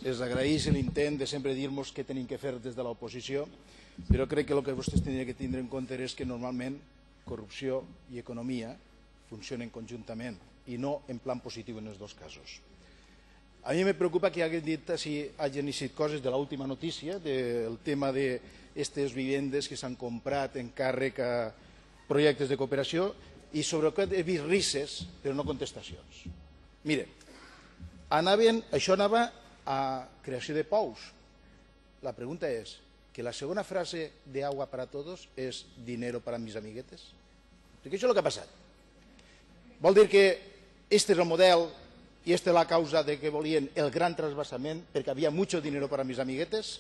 es agraeix l'intent de sempre dir-nos què tenim que fer des de l'oposició, però crec que el que vostès tindrien que tindre en compte és que normalment corrupció i economia funcionen conjuntament i no en plan positiu en els dos casos. A mi me preocupa que hagin dit si hagin eixit coses de l'última notícia, del tema d'aquestes vivendes que s'han comprat en càrrec a projectes de cooperació, i sobre aquest he vist risses, però no contestacions. Mire, això anava a creació de pous. La pregunta és que la segona frase de Agua para Todos és dinero para mis amiguetes. Perquè això és el que ha passat. Vol dir que este és el model i esta és la causa de que volien el gran trasvasament perquè havia mucho dinero para mis amiguetes?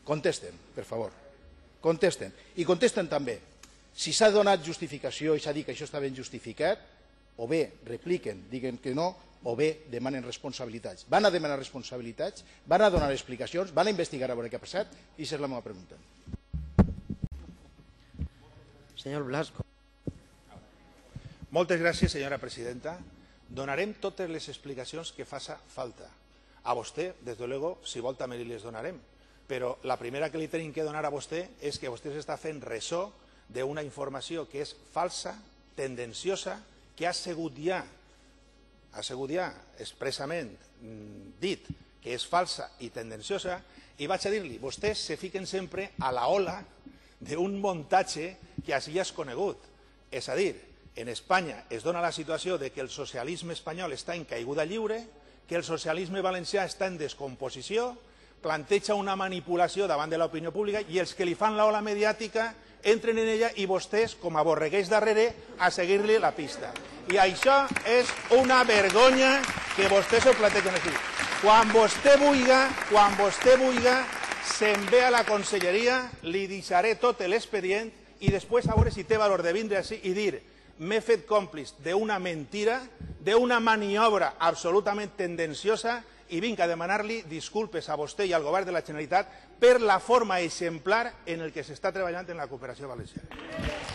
Contesten, per favor. Contesten. I contesten també si s'ha donat justificació i s'ha dit que això està ben justificat, o bé repliquen, diguen que no, o bé demanen responsabilitats. Van a demanar responsabilitats, van a donar explicacions, van a investigar a veure què ha passat, i aquesta és la meva pregunta. Senyor Blasco. Moltes gràcies, senyora presidenta. Donarem totes les explicacions que faça falta. A vostè, des de luego, si vol també les donarem. Però la primera que li tenim que donar a vostè és que vostè s'està fent ressò d'una informació que és falsa, tendenciosa, que ha sigut ja expressament dit que és falsa i tendenciosa, i vaig a dir-li, vostès se fiquen sempre a la ola d'un muntatge que així ja és conegut. És a dir, en Espanya es dona la situació de que el socialisme espanyol està en caiguda lliure, que el socialisme valencià està en descomposició, planteja una manipulació davant de l'opinió pública i els que li fan l'ola mediàtica entren en ella i vostès, com a borreguers darrere, a seguir-li la pista. I això és una vergonya que vostès ho plantegen així. Quan vostè vulga, se'n ve a la conselleria, li deixaré tot l'expedient i després a veure si té valor de vindre així i dir m'he fet còmplice d'una mentira, d'una maniobra absolutament tendenciosa i vinc a demanar-li disculpes a vostè i al govern de la Generalitat per la forma exemplar en què s'està treballant en la cooperació valenciana.